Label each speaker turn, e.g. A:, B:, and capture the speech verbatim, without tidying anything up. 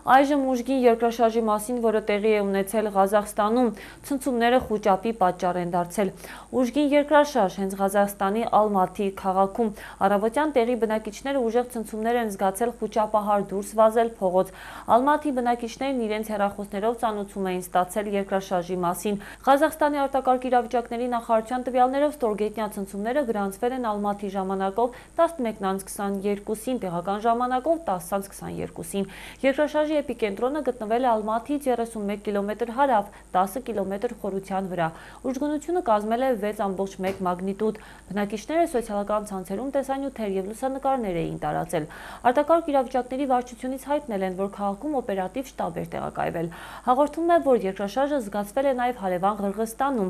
A: Այժմ ուժգին երկրաշարժի մասին, որը տեղի է ունեցել Ղազախստանում, ցնցումները խուճապի պատճառ են դարձել։ Ուժգին երկրաշարժ հենց Ղազախստանի Ալմաթի քաղաքում առավոտյան տեղի բնակիչները ուժեղ ցնցումներ են զգացել խուճապահար դուրս վազել փողոց։ Ալմաթի բնակիչներն իրենց հեռախոսներով ծանոթում էին ստացել երկրաշարժի մասին։ Ղազախստանի արտակարգ իրավիճակների նախարարության տվյալներով ստորգետնյա ցնցումները գրանցվել են Ալմաթի ժամանակով տասնմեկն անց քսաներկուսին, տեղական ժամանակով տասը անց քսաներկուսին։ Երկրաշարժի էպիկենտրոնը գտնվել է Ալմաթից երեսունմեկ կիլոմետր հարավ, տասը կիլոմետր խորության վրա։ Ուժգնությունը կազմել է վեց ամբողջ մեկ մագնիտուդ։ Բնակիչները սոցիալական ցանցերում տեսանյութեր և լուսանկարներ էին տարածել։ Արտակարգ իրավիճակների վարչությունից հայտնել են, որ քաղաքում օպերատիվ շտաբ էր տեղակայվել։ Հաղորդվում է, որ երկրաշարժը զգացվել է նաև հարևան Ղրղըզստանում։